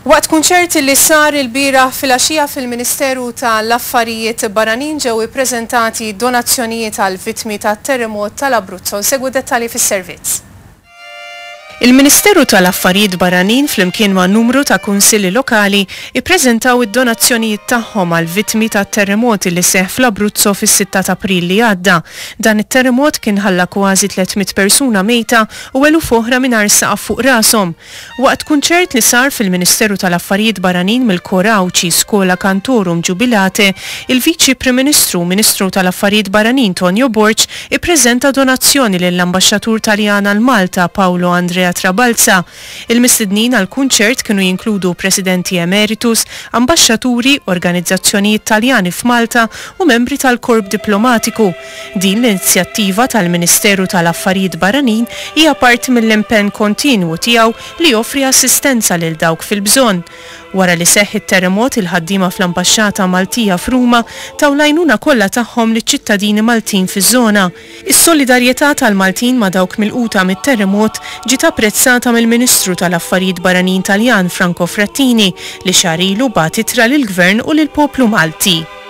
Waqt kunċert li sar ilbieraħ filgħaxija fil-Ministeru ta' l-Affarijiet Barranin ġew ippreżentati donazzjonijiet għall-vittmi tat-terremot tal-Abruzzo. Nsegwu d-dettalji fis-servizz. Il-Ministeru tal-Affarijiet Barranin flimkien ma' numru ta' kunsilli lokali ippreżentaw id-donazzjonijiet tagħhom għall-vittmi tat-terremot li seħħ fl-Abruzzo fis-sitta t'April li għadda. Dan it-terremot kien ħalla kważi 300 persuna mejta u eluf oħra mingħajr saqaf fuq rashom. Waqt kunċert li sar fil-Ministeru tal-Affarijiet Barranin mill-Kor Għawdxi Schola Cantorum Jubilate, il-Viċi Prim Ministru u Ministru tal-Affarijiet Barranin Tonio Borg ippreżenta donazzjoni lill-Ambaxxatur Taljan għal Malta Paolo Andrea Trabalza. Il-mistednin għall-kunċert kienu jinkludu Presidenti Emeritus, Ambaxxaturi, organizzazzjonijiet Taljani f'Malta u membri tal-Korp Diplomatiku. Din l-inizjattiva tal-Ministeru tal-Affarijiet Barranin hija parti mill-impenn kontinwu tiegħu li joffri assistenza lil dawk fil-bżonn. Wara li seħħ it-terremot il-ħaddiema fl-Ambaxxata Maltija f'Ruma taw l-għajnuna kollha tagħhom liċ-ċittadini Maltin fiż-żona. Is-solidarjetà tal-Maltin ma' dawk milquta mit-terremot ġiet apprezzata mill-Ministru tal-Affarijiet Barranin Taljan Franco Frattini li xahar ilu bagħat ittra lill-Gvern u lill-poplu Malti.